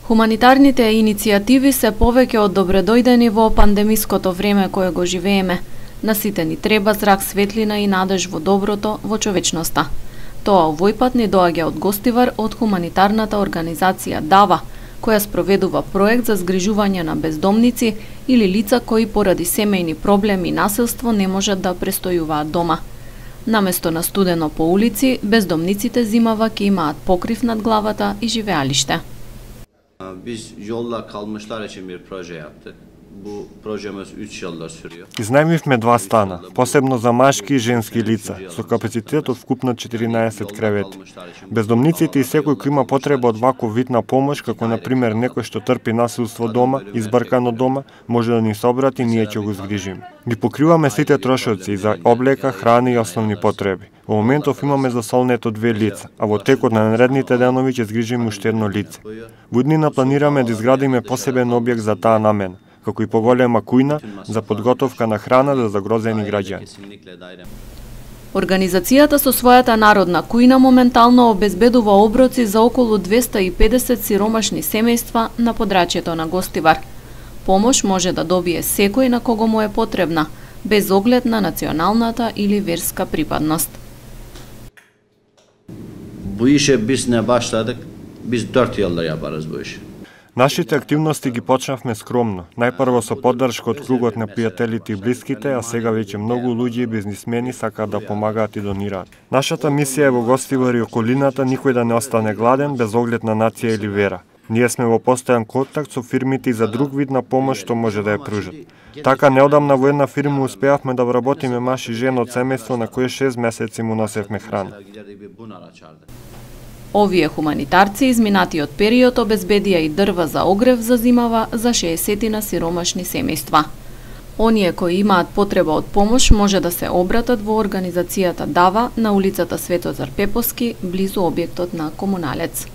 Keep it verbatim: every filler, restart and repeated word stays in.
Хуманитарните иницијативи се повеќе од добредојдени во пандемиското време кое го живееме. На сите ни треба зрак светлина и надеж во доброто, во човечноста. Тоа овој пат ни доаѓа од гостивар од хуманитарната организација ДАВА, која спроведува проект за згрижување на бездомници или лица кои поради семејни проблеми и насилство не можат да престојуваат дома. Наместо на студено по улици, бездомниците зимава ќе имаат покрив над главата и живеалиште. Biz yolla kalmışlar için bir proje yaptık. Bu projemiz üç yıldır sürüyor. Изнајмивме два стана, посебно за машки и женски лица, со капацитет од вкупно четиринаесет кревети. Бездомниците и секој кој има потреба од ваков вид на помош, како на пример некој што трпи насилство дома, избркано дома, може да ни се обрати и ние ќе го згрижиме. Ги покриваме сите трошоци и за облека, храна и основни потреби. Во моментов имаме за солнето две лица, а во текот на наредните денови ќе згрижиме уште едно лице. Во иднина планираме да изградиме посебен објект за таа намена, како и поголема кујна за подготовка на храна за загрозени граѓани. Организацијата со својата народна кујна моментално обезбедува оброци за околу двесте и педесет сиромашни семејства на подрачјето на Гостивар. Помош може да добие секој на кого му е потребна, без оглед на националната или верска припадност. Bu işe biz ne başladık? Biz dört yıldır yaparız bu işi. Нашите активности ги почнавме скромно, најпрво со поддршка од кругот на пријателите и блиските, а сега веќе многу луѓе и бизнисмени сакаат да помагаат и донираат. Нашата мисија е во Гостивар и околината никој да не остане гладен без оглед на нација или вера. Ние сме во постојан контакт со фирмите и за друг вид на помош што може да ја пружат. Така неодамна во една фирма успеавме да вработиме маж и жена од семејство на кое шест месеци му носевме храна. Овие хуманитарци изминатиот период обезбедија и дрва за огрев за зимава за шеесет сиромашни семејства. Оние кои имаат потреба од помош може да се обратат во организацијата ДАВА на улицата Светозар Пепоски, близу објектот на Комуналец.